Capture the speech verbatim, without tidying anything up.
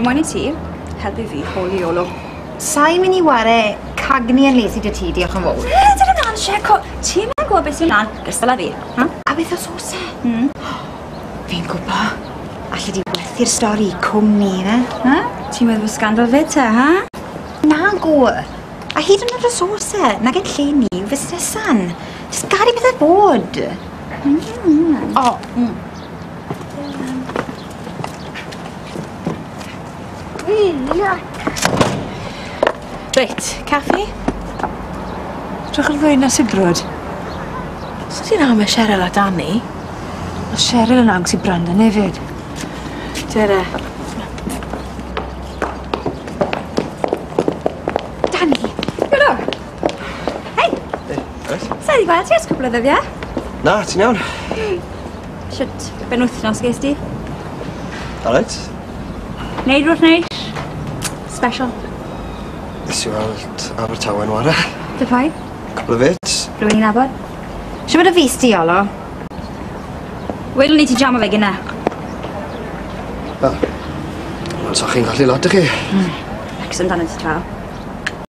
Fi moyn i ti helpu fi holi Iolo. Sa'n mynd i ware cagni yn lesi dy ti, diolch yn fawr. Dyn nhw'n Siec, ti'n mynd gwybod beth sy'n mlaen, gystal â fi. Ha? A beth os oes e? Mm. Fi'n gwybod. Alli di werthu'r stori i cwmni, fe? Ha? Ti'n meddwl bod scandal fyd te, ha? Nago. A hyd yn oed os oes e, nag yn lle ni yw fusnesan. Jyst gad i bethau bod. Mm. O. Mm. Reit, caffi? Drych ar ddwy na sibrwd. So ti'n am y Cheryl a Danny? Mae Cheryl yn agos i Brandon hefyd. Dere. Danny! Helo! Hei! Hey, reit? Sa i gweld ti ers cwpl o ddyddiau? Na, ti'n iawn. Shwt benwythnos ges di? Alright. Neud rhywbeth neis? Special. Nes i weld Abertawe'n ware. Dy pwy? Cwpl o fits. Rhywun i'n nabod? Shwt y fus di, Iolo? Welwn ni ti jamo fe gynna. Wel, wel, so chi'n colli lot, ych chi? Mm. Wrecsam dan ti draw.